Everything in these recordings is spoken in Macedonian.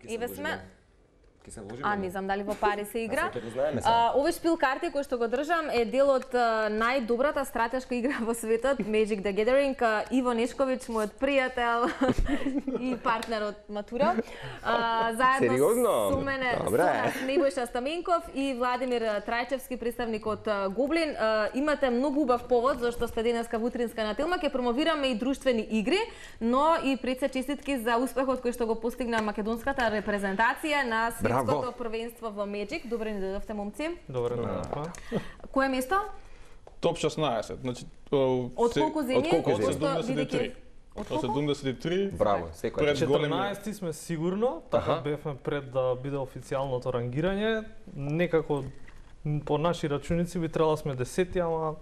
Еве сме. А, не знам дали во пари се игра. Овој Овој шпил карти кој што го држам е дел од најдобрата стратешка игра во светот, Magic the Gathering. Иво Нешковиќ, мојот пријател и партнер од матура. Заедно со мене Небојша Стаменков и Владимир Трајчевски, представник од Гоблин. Имате многу убав повод зашто сте денеска во утринска на Телма. Ќе промовираме и друштвени игри, но и пред се честитки за успехот кој што го постигна македонската репрезентација на светското првенство во Magic. Добре ни дојдовте, момци. Добре дојдовте. Кое место? Топ 16. Значи од колку земји? Од 73. Од 73. Браво, секој. 14 сме сигурно, така бевме пред да биде официјалното рангирање. Некако по наши рачуници би требало сме 10, ама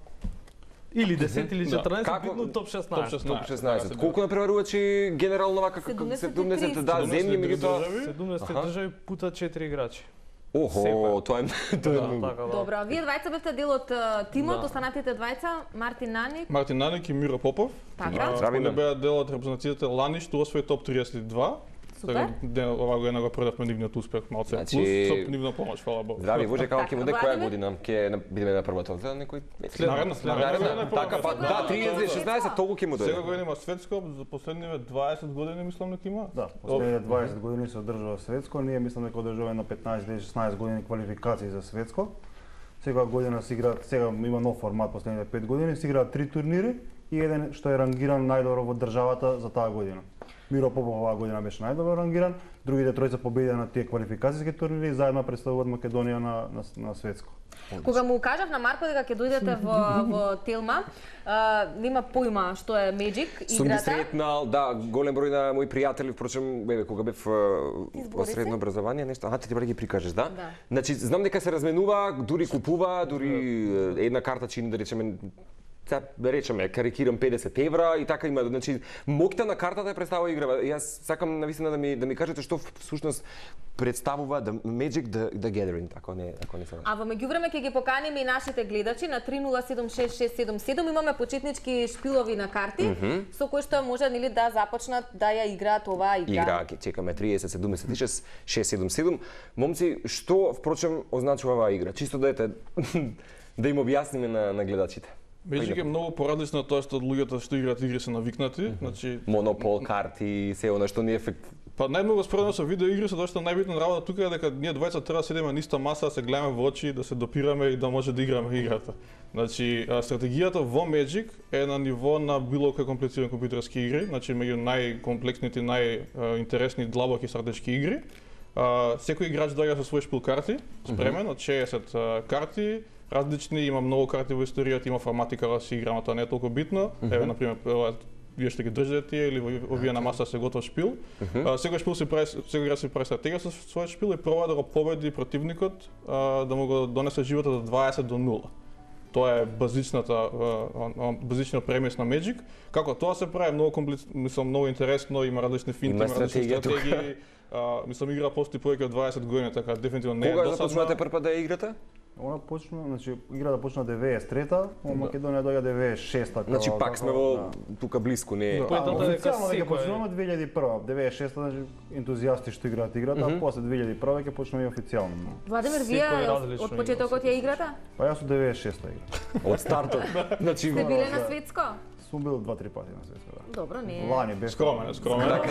или 10 или 14, битно топ 16. Топ 16. Колку на преварувачи генерално вака 70 земји, меѓутоа 70 држави пута 4 играчи. Охо, тоа е многу. Добро, вие двајца бевте дел од тимот, останатите двајца, Мартин Наник. Мартин Наник и Миро Попов. Така. Они беа дел од репрезентацијата Лани што освои топ 32. Супер. Ова година го предавме нивниот успех, малце плюс со нивна помош, фала Богу. Здрави, Боже, како ќе буде која година? Ќе бидеме на првата, за некој Наредна. Така па, да, 30-16 толку ќе му дојде. Сега година има светско, за последниве 20 години мислам дека има. Да, последниве 20 години се одржува светско, ние мислам дека одржуваме на 15-16 години квалификации за светско. Секоја година се играат, сега има нов формат последниве 5 години, се играат 3 турнири и еден што е рангиран најдобро во државата за таа година. Миро Попов оваа година беше најдобро рангиран, другите тројца победија на тие квалификацијски турнири и заедно представуваат Македонија на светско. Кога му кажав на Марко дека ќе дојдете во Телма, нема појма што е Magic играта. Сум ги сретнал, да, голем број на мои пријатели, впрочем, кога бев во средно образование, нешто, ти треба да ги прикажеш, да? Значи, знам дека се разменува, дури купува, дури една карта чини, да речеме, карикирам 50 евра и така има, значи моќта на картата е представува играва. Јас сакам навистина да ми кажете што всушност представува Magic the Gathering, ако не се. А во меѓувреме ќе ги поканиме и нашите гледачи на 30766777. Имаме почетнички шпилови на карти со кои што може нели да започнат да ја играат оваа игра. Игра, ќе чекаме 3076 677. Момци, што впрочем означува оваа игра? Чисто да им објасниме на гледачите. Magic е многу поразлично од тоа што луѓето што играат игри се навикнати, значи монопол, карти, се она што не е ефект. Па најмногу споредно со видео игри, со тоа што најбитна работа тука е дека ние двајца треба да седиме на иста маса, да се гледаме во очи, да се допираме и да може да играме играта. Значи стратегијата во Magic е на ниво на било кој комплицирани компјутерски игри, значи меѓу најкомплексните, најинтересни длабоки стратешки игри. Секој играч доаѓа со свој шпил карти, спремен од 60 карти. Различни, има многу карти во историјата, има формати кога се играме, тоа не е толку битно. Еве, например, вие што ги држите тие или овие на маса се готов шпил. Секој шпил секој играч се прави стратегија со својот шпил и проба да го победи противникот, да му го донесе животот од 20 до 0. Тоа е базичниот премис на Magic. Како тоа се прави многу интересно, има различни финти, има различни стратегии. Мислам игра постои повеќе од 20 години, така дефинитивно не е досадна. Кога започнате прв пат да ја играте? Она почна, значи играта почна 93-та, во Македонија доаѓа 96-та. Значи пак сме во тука блиску, не е. Официјално дека почнуваме 2001, 96-та, значи ентузијасти што играат играта, а после 2001 ќе почнеме и официјално. Владимир, вие од почетокот ја играта? Па јас од 96-та игра. Од стартот. Значи сте биле на светско? Сум бил 2-3 пати на светско, да. Добро, не е. Лани бев скромен. Скромно.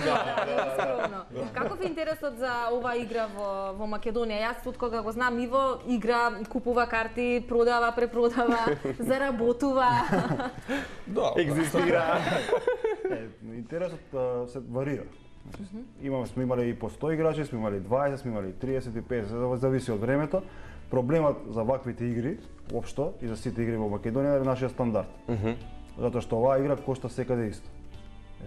Каков е интересот за оваа игра во Македонија? Јас од кога го знам Иво, игра, купува карти, продава, препродава, заработува. Да, екзистира. Интересот се варира. Сме имали и по 100 играчи, сме имали 20, сме имали 30 и 50, зависи од времето. Проблемот за ваквите игри, општо, и за сите игри во Македонија е нашиот стандард. Затоа што оваа игра кошта секаде исто.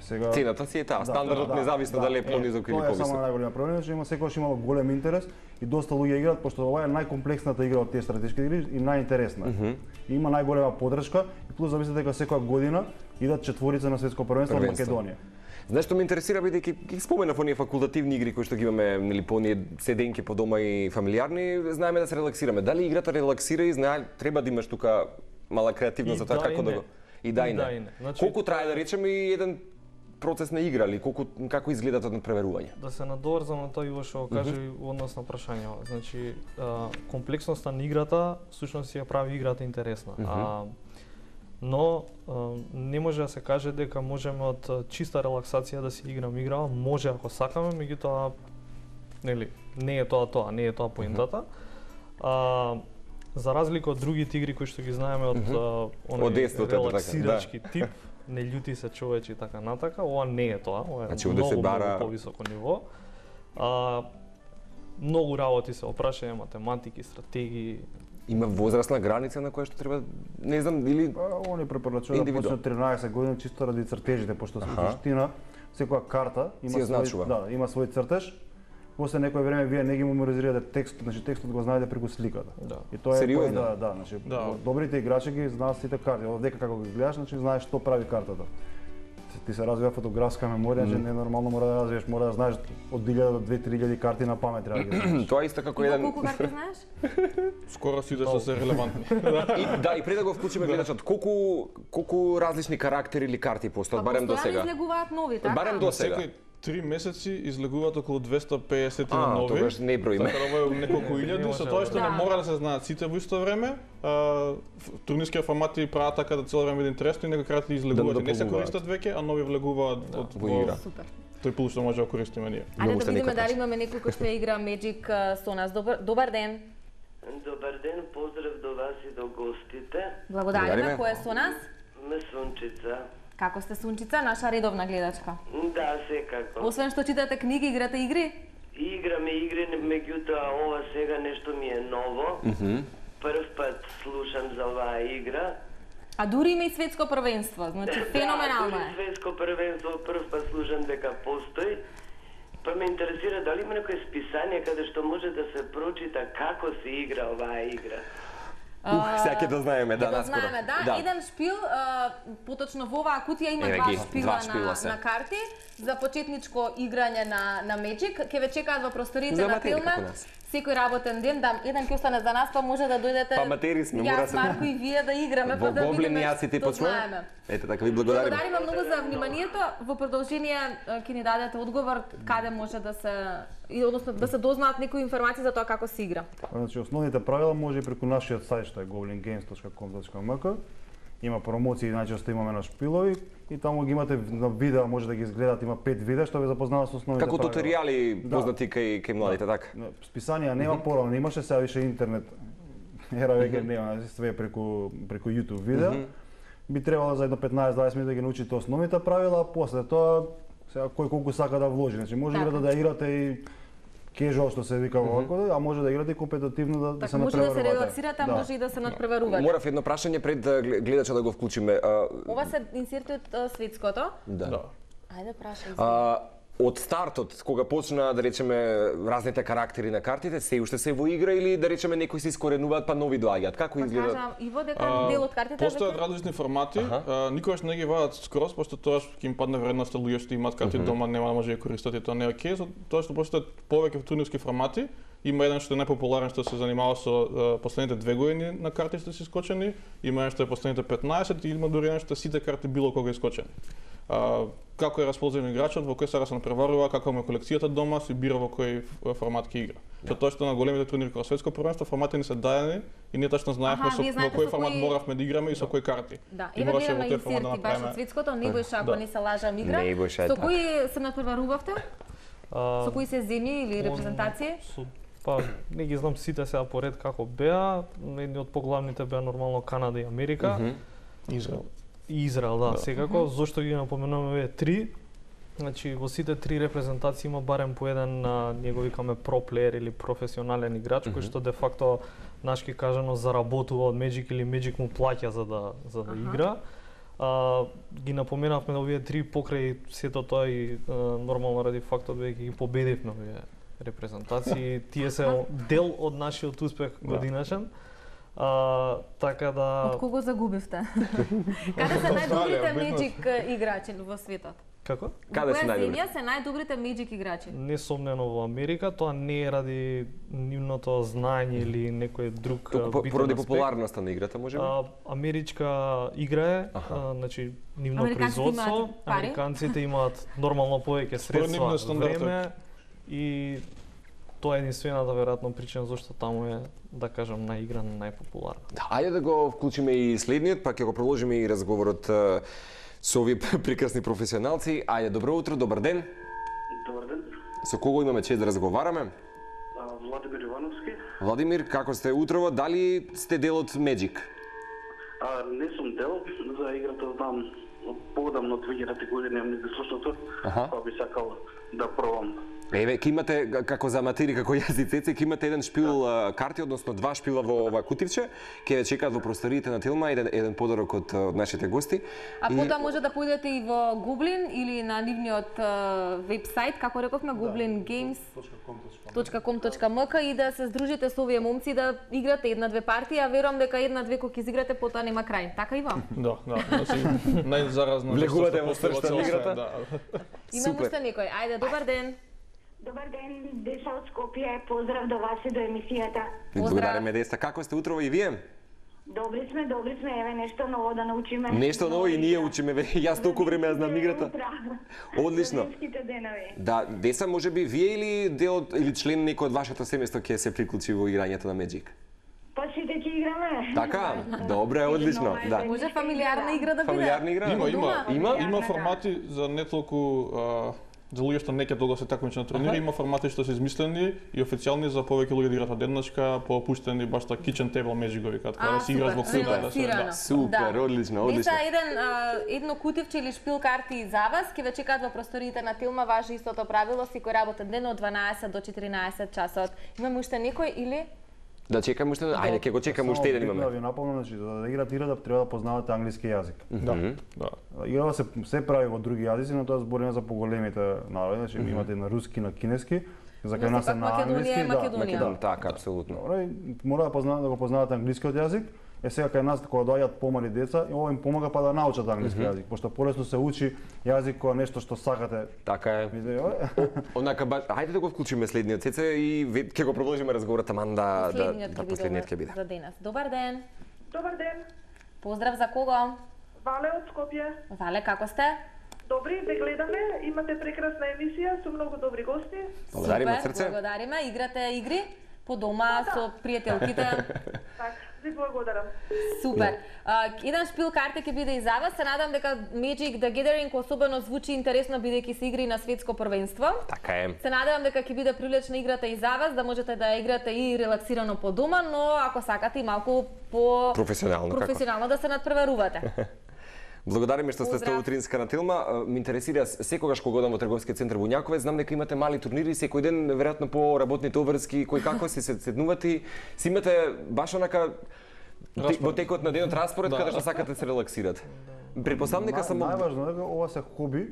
Сега цената си е таа, стандардот независно дали е понизок или повисок. Тоа е само најголем проблем, што има секогаш имало голем интерес и доста луѓе играат, пошто ова е најкомплексната игра од тие стратешки игри и најинтересна. Има најголема поддршка и плюс замислете дека секоја година идат четворица на светско првенство во Македонија. Знаеш што ме интересира, бидејќи ги споменав оние факултативни игри кои што ги имаме, нели, по оние седенки по дома и фамилиарни, знаеме да се релаксираме. Дали играта релаксира и знае треба да имаш тука мала креативност за тоа како да го и да и не. Колку трае да речеме и еден процес на игра или како изгледа тоа надпреварување? Да се надоврзам на тоа Иво што каже во однос на прашањето. Значи, комплексноста на играта всушност ја прави играта интересна. Но не може да се каже дека можеме од чиста релаксација да си играме игра, може ако сакаме, меѓутоа нели не е тоа, не е тоа поентата. За разлика од другите игри кои што ги знаеме од оној релаксирачки тип, не љути се човечи така натака, ова не е тоа, ова е многу повисоко ниво. Многу работи се опрашање, математики, стратегии. Има возрастна граница на која што треба, не знам, или они препорачуваат да почне 13 години чисто ради цртежите, пошто со суштина секоја карта има свој цртеж. После некој време вие не ги меморизирате текстот, значи текстот го знаете преку сликата. И тоа е значи добрите играчи ги знаат сите карти, дека како ги гледаш, значи знаеш што прави картата. Ти се развива фотографска меморија, значи не нормално мора да развиеш, мора да знаеш од 1000 до 2000 карти на памет треба да ги знаеш. Тоа исто како еден. Колку карти знаеш? Скоро сите што се релевантни. И пред да го вклучиме гледачот, колку различни карактери или карти постојат барем до сега? Излегуваат нови, така? Барем до сега. 3 месеци излегуваат околу 250 нови. Тогаш не броиме. Така ова е неколку илјади, со тоа што не мора да се знаат сите во исто време. Турнирските формати прават така да цело време да интересно и некои карти излегуваат. Не се користат веќе, а нови влегуваат од игра. Супер. Тој пул што може да користиме ние. Ајде да видиме дали имаме некој кој што игра Magic со нас. Добар ден. Добар ден, поздрав до вас и до гостите. Благодариме. Кој е со нас? Ме Сунчица. Како сте Сунчица, наша редовна гледачка? Да, секако. Освен што читате книги, играте игри? Играме игри, меѓутоа ова сега нешто ми е ново. Прв пат слушам за оваа игра. А дури има и светско првенство, значи феноменално е. Да, светско првенство, прв пат слушам дека постои. Па ме интересира дали има некој списание каде што може да се прочита како се игра оваа игра. Сега ќе да знаеме, наскоро. Да, еден шпил, поточно во оваа кутија има два шпила на карти за почетничко играње на Magic. Ке ве чекаат во просториите на Телма. Секој работен ден, еден ќе остане за нас, па може да дојдете. Па матери сме, мора се. Марко и вие да играме, па да видиме што знаеме. Ете така ви благодариме. Благодариме многу за вниманието. Во продолжение ќе ни дадете одговор каде може да се односно да се дознаат некои информации за тоа како се игра. Значи основните правила може и преку нашиот сајт што е goblingames.com.mk. Има промоции, најчесто имаме на шпилови и таму ги имате на видео, може да ги изгледате, има 5 видеа што ве запознава со основните како правила. Како туторијали познати кај младите, така? Списанија нема порано, имаше сега више интернет. Ера веќе нема, све преку YouTube видео. Би требало за едно 15-20 минути да ги научите основните правила, после тоа сега кој колку сака да вложи. Значи може играта да играте и кежуал што се вика вако, а може да играте компетитивно да се надпреварувате. Може да се релаксирате, а може и да се надпреварувате. Морав едно прашање пред гледача да го вклучиме. Ова се инсерти од светското? Да. Ајде прашај. Од стартот, кога почна да речеме разните карактери на картите, се уште се во игра или да речеме некои се искоренуваат па нови доаѓаат? Како изгледа? Кажам Иво дека дел од картите постојат различни формати, никогаш не ги вадат скроз, пошто тоа ќе им падне вредноста луѓе што имаат карти дома, нема да може да користат и тоа не е окей, тоа што постојат повеќе турнирски формати. Има еден што е најпопуларен што се занимава со последните 2 години на карти што се искочени, има еден што е последните 15 и има дури еден што сите карти било кога искочени. Како е расположен играчот, во кој сега се надпреварува, како му е колекцијата дома, се бира во кој формат ќе игра. Тоа што на големите турнири како светско првенство формати не се дадени и ние точно знаевме во кој формат моравме да играме и со кој карти. Да, еве гледаме инсерти баш од светското, Небојша, ако не се лажам, игра. Со кои се надпреварувавте? Со кои се земји или репрезентации? Па не ги знам сите сега поред како беа, едни од поглавните беа нормално Канада и Америка. Израел, да, секако. Зошто ги напоменуваме овие 3? Значи во сите 3 репрезентации има барем по еден ние го викаме про плеер или професионален играч кој што де факто нашки кажано заработува од Magic или Magic му плаќа за да игра. Ги напоменавме овие 3 покрај сето тоа и нормално ради фактот дека ги победивме овие репрезентации. Тие се дел од нашиот успех годинашен. Така да... Од кого загубивте? Каде се најдобрите Magic играчи во светот? Како? Каде се Која најдобри? земја се најдобрите Magic играчи? Несомнено во Америка, тоа не е ради нивното знаење или некој друг битен Поради аспект. популарноста на играта, може би? Америчка игра е, значи нивно Американците производство, имаат пари? американците имаат нормално повеќе средства, нивниот стандард, време и тоа е единствената веројатно причина зашто таму е, да кажам, наиграна, најпопуларна. Ајде да го вклучиме и следниот, па ќе го продолжиме и разговорот со овие прекрасни професионалци. Ајде, добро утро, добар ден. Добар ден. Со кого имаме чест да разговараме? Владимир Ивановски. Владимир, како сте утрово? Дали сте дел од Magic? Не сум дел, за играта знам поодамно од 2000 години, ми слушното, па би сакал да пробам. Еве, ке имате, како за аматери, како јас и Цеце, ке имате еден шпил карти, односно два шпила во ова кутивче, ке ве чекаат во просториите на Тилма, еден подарок од нашите гости. А потоа може да појдете и во Goblin или на нивниот вебсайт, како рековме, goblingames.com.mk и да се здружите со овие момци да играте една-две партии, а верувам дека една-две кога ќе изиграте потоа нема крај. Така и вам? Да, значи најзаразно. Влегувате во срцето на играта? Имам уште некој. Ајде, добар ден. Добар ден, Деса од Скопје, поздрав до вас и до емисијата. Благодариме, Деста. Како сте утрово и вие? Добри сме, еве нешто ново да научиме. Нешто ново и ние учиме, јас толку време ја знам играта. Одлично. Да, Деса, може би вие или дел или член некој од вашето семејство ќе се приклучи во играњето на Magic? Па сите ќе играме. Така? Добре, одлично. Да. Може фамилиарна игра да биде? Фамилиарна игра? Има формати за не толку за луѓе што не ќе долго се такмичат на турнири, има формати што се измислени и официјални за повеќе луѓе да играат одеднашка, поопуштени баш така kitchen table Magic го викаат, кога да си играш во куќа, да се да. Супер, одлично, одлично. Едно кутивче или шпил карти за вас, ќе ве чекаат во просториите на Тилма, важи истото правило, секој работен ден од 12 до 14 часот. Имаме уште некој или? Да чекаме уште, ајде ќе го чекаме уште еден имаме. Да ви напомнам, значи за да играте игра треба да познавате англиски јазик. Да. Играва се прави во други јазици, но тоа збориме за поголемите народи, значи имате на руски, на кинески, за кај нас е на англиски, Да, така, апсолутно. Мора да го познавате англискиот јазик. Сега кај нас кога доаѓаат помали деца, ова им помага па да научат англиски јазик, пошто полесно се учи јазик кога нешто што сакате. Така е. Онака ајде да го вклучиме следниот Цеце и ќе го продолжиме разговорот таман да последниот ќе биде. За денес. Добар ден. Добар ден. Поздрав за кого? Вале од Скопје. Вале, како сте? Добри, ве гледаме, имате прекрасна емисија со многу добри гости. Благодариме од срце. Благодариме, играте игри по дома со пријателките. Так, ви благодарам. Супер. Еден шпил карти ќе биде и за вас. Се надам дека Magic the Gathering особено звучи интересно бидејќи се игри на светско првенство. Така е. Се надевам дека ќе биде привлечна играта и за вас, да можете да играте и релаксирано по дома, но ако сакате и малку по професионално да се надпреварувате. Благодариме што сте утринска на Тилма. Ме интересира секогаш кога одам во трговскиот центар во Јаковец, знам дека имате мали турнири секој ден, веројатно по работните обврски, кој како се седнувате, си имате баш онака во текот на денот распоред каде што сакате да се релаксирате. Претпоставам дека само најважно дека ова се хоби,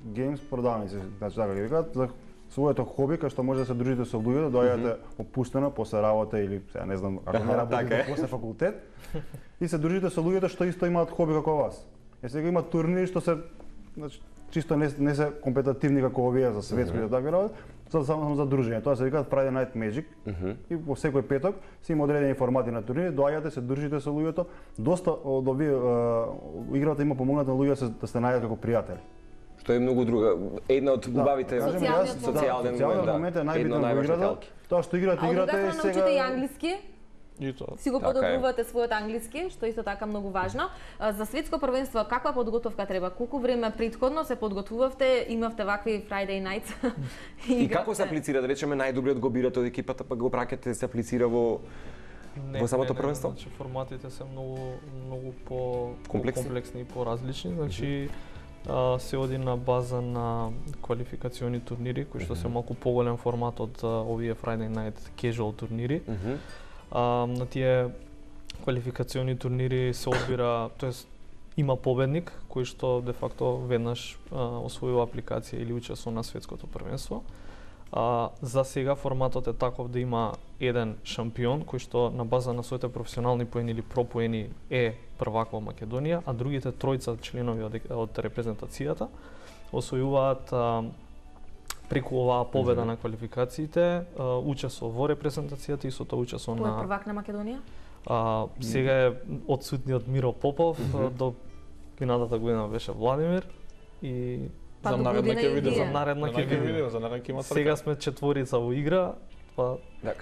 геймс продавници, значи така ги викаат, за своето хоби кај што може да се дружите со луѓе, да доаѓате опуштено после работа или сега не знам, ако не работите после факултет, и се дружите со луѓето што исто имаат хоби како вас. Сега има турнири што се значи чисто не се компетитивни како овие за светско и такви работи, само за дружење. Тоа се викаат Friday Night Magic и во секој петок се има одредени формати на турнири, доаѓате, се дружите со луѓето. Доста од овие играта има помогнато на луѓе да се најдат како пријатели. Што е многу друга. Една од убавите социјален момент е најбитен во играта. Тоа што играте и сега научите и англиски. Си го Така подобрувате својот англиски, што исто така многу важно. За светско првенство каква подготовка треба? Колку време претходно се подготвувавте, имавте вакви Friday nights? И како се аплицира, да речеме, најдобриот го бирате од екипата, па го праќате се аплицира во самото првенство? Значи форматите се многу по комплексни и поразлични, значи се оди на база на квалификациони турнири кои што се малку поголем формат од овие Friday night casual турнири. На тие квалификациони турнири се одбира, тоест има победник кој што де факто веднаш освојува апликација или учествува на светското првенство. За сега форматот е таков да има еден шампион кој што на база на своите професионални поени или про поени е првак во Македонија, а другите тројца членови од репрезентацијата освојуваат преку оваа победа на квалификациите, учество во репрезентацијата и со тоа учество на... Кој е првак на Македонија? Сега е одсутниот Миро Попов, до минатата година беше Владимир и за наредна ќе видиме. За наредна ќе има сега сме четворица во игра. Да,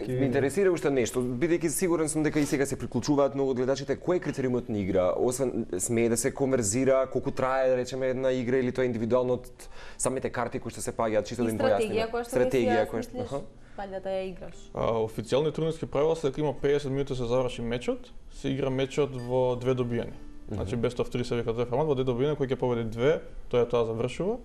ме интересира уште нешто, бидејќи сигурен сум дека и сега се приклучуваат многу од гледачите, кој е критериумот на игра? Освен смее да се конверзира, колку трае да речеме една игра или тоа индивидуално од самите карти кои што се паѓаат, чисто да им појасниме. Стратегија која што паѓа да ја играш. Официјални турнирски правила се дека има 50 минути се заврши мечот, се игра мечот во две добијани. Значи best of 3 се вика тој формат, во две добијани кој ќе победи две, тоа завршува.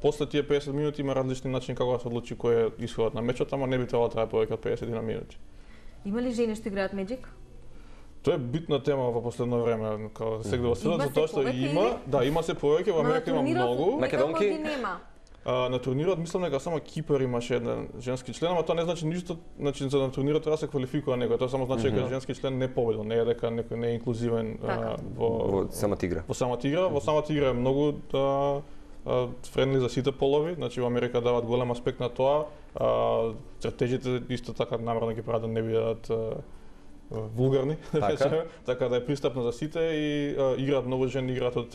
После тие 50 минути има различни начини како да се одлучи кој е исходот на мечот, ама не би требало да трае повеќе од 50 минути. Има ли жени што играат Magic? Тоа е битна тема во последно време, како секогаш во светот, затоа што има се повеќе, во Америка има многу. Македонки на турнирот мислам дека само Кипар имаше еден женски член, ама тоа не значи ништо, значи за на турнирот треба да се квалификува некој, тоа само значи дека женски член не победил, не е дека некој не е инклузивен во самата игра. Во самата игра е многу френдли за сите полови, значи во Америка дават голем аспект на тоа, чертежите исто така намерно ги прават да не бидат вулгарни, така да е пристапно за сите и играат многу жени, играат од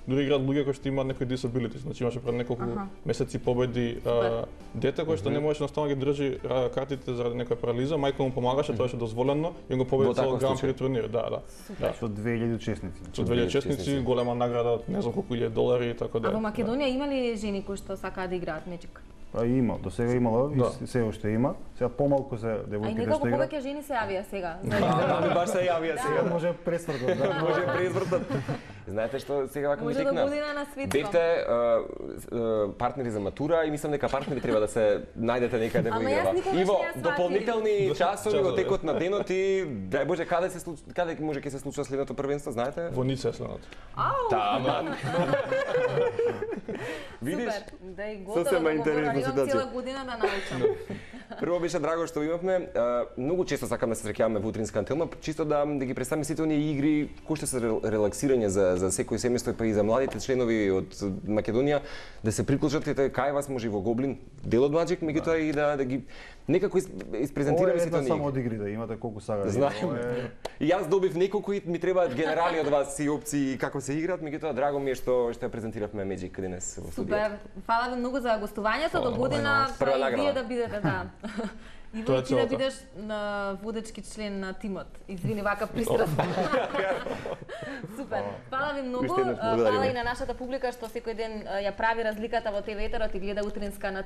дури играат луѓе кои што имаат некои disabilities, значи имаше пред неколку месеци победи дете кој што не можеше наставно ги држи картите заради некоја парализа, мајка му помагаше, тоа беше дозволено и го победи цело Гран При турнир, Со 2000 учесници. Со 2000 учесници, голема награда од не знам колку $1000 и така да. А во Македонија има ли жени кои што сакаат да играат Magic? Има, до сега имало и се уште има. Сега помалку се девојките што играат. А и некако повеќе жени се јавија сега. Баш се јавија сега. Може пресвртот, да. Може пресвртот. Знаете што сега вака ми текна? Може до година на светство. Бевте партнери за матура и мислам дека партнери треба да се најдете некаде во играва. Иво, дополнителни часови во текот на денот и дај Боже каде може ќе се случува следното првенство, знаете? Во Ница следното. Таман. Видиш? Да и готово, имам цела година да научам. Прво беше драго што имавме. Многу често сакам да се среќаваме во утринска антена, чисто да ги представиме сите оние игри кои што се релаксирање за секој семејство, па и за младите членови од Македонија да се приклучат кај вас може и во Гоблин дел од Magic, меѓутоа и да ги некако испрезентираме сите оние. Само од игри да имате колку сага. Знаем. И јас добив неколку и ми требаат генерали од вас и опции како се играат, меѓутоа драго ми е што ја презентиравме Magic денес во студиото. Супер. Фала ви многу за гостувањето, до година и вие да бидете, да. Иво, ти да бидеш на водечки член на тимот. Извини, вака пристрасно. Супер. Фала ви многу. Фала и на нашата публика што секој ден ја прави разликата во ТВ етерот и гледа утринска на